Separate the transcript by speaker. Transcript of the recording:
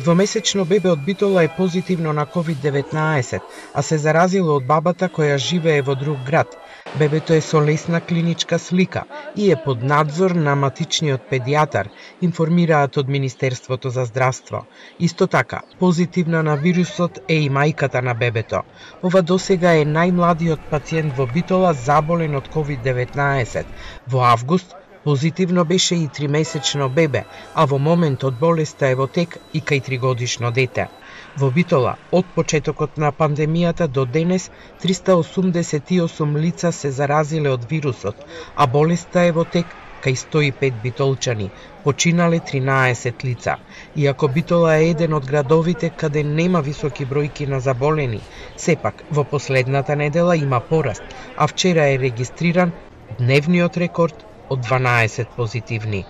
Speaker 1: Двомесечно бебе од Битола е позитивно на COVID-19, а се заразило од бабата која живее во друг град. Бебето е со лесна клиничка слика и е под надзор на матичниот педијатар, информираат од Министерството за здравство. Исто така, позитивна на вирусот е и мајката на бебето. Ова досега е најмладиот пациент во Битола заболен од COVID-19. Во август позитивно беше и 3-месечно бебе, а во моментот болеста е во тек и кај 3-годишно дете. Во Битола, од почетокот на пандемијата до денес, 388 лица се заразиле од вирусот, а болеста е во тек кај 105 битолчани, починале 13 лица. Иако Битола е еден од градовите каде нема високи бројки на заболени, сепак во последната недела има пораст, а вчера е регистриран дневниот рекорд од 12 позитивни.